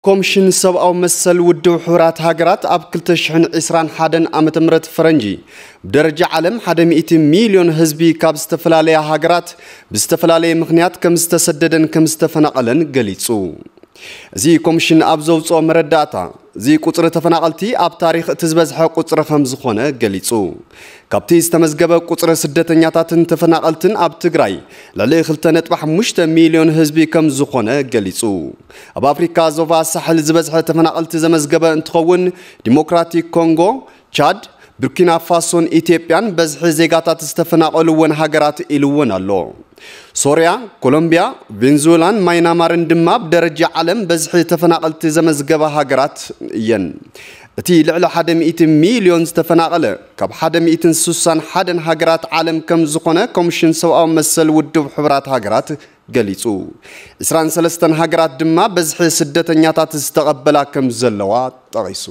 ኮምሽን ሰብኣዊ መሰል ውድብ ሕቡራት ሃገራት ኣብ ክልተ ሽሕን ዕስራን ሓደን ዓመተ ምህረት ፈረንጂ ብደረጃ ዓለም ሓደ ሚእቲ ሚልዮን ህዝቢ ካብ ዝተፈላለያ ሃገራት ብዝተፈላለየ ምኽንያት ከም ዝተሰደደን ከም ዝተፈናቐለን ገሊጹ። እዚ ኮምሽን ኣብ ዘውፅኦ መረዳእታ፣ እዚ ቁፅሪ ተፈናቐልቲ ኣብ ታሪኽ እቲ ዝበዝሐ ቁፅሪ ከም ዝኾነ ገሊጹ። ካብቲ ዝተመዝገበ ቁፅሪ ስደተኛታትን ተፈናቐልትን ኣብ ትግራይ ልዕሊ ክልተ ነጥቢ ሓሙሽተ ሚልዮን ህዝቢ ከም ዝኾነ ገሊጹ። ኣብ ኣፍሪካ ዞባ ሳሕል ዝበዝሐ ተፈናቐልቲ ዘመዝገበ እንትኸውን፣ ዲሞክራቲክ ኮንጎ፣ ቻድ፣ ቡርኪና ፋሶን ኢትዮጵያን በዝሒ ዜጋታት ዝተፈናቐልወን ሃገራት ኢልወን ኣሎ። ሶርያ፣ ኮሎምቢያ፣ ቬንዙዌላን ማይናማርን ድማ ብደረጃ ዓለም በዝሒ ተፈናቐልቲ ዘመዝገባ ሃገራት እየን። እቲ ልዕሊ ሓደ ሚእቲ ሚልዮን ዝተፈናቐለ ካብ ሓደ ሚእትን ስሳን ሓደን ሃገራት ዓለም ከም ዝኾነ ኮምሽን ሰብኣዊ መሰል ውድብ ሕቡራት ሃገራት ገሊጹ። ዕስራን ሰለስተን ሃገራት ድማ በዝሒ ስደተኛታት ዝተቐበላ ከም ዘለዋ ጠቒሱ።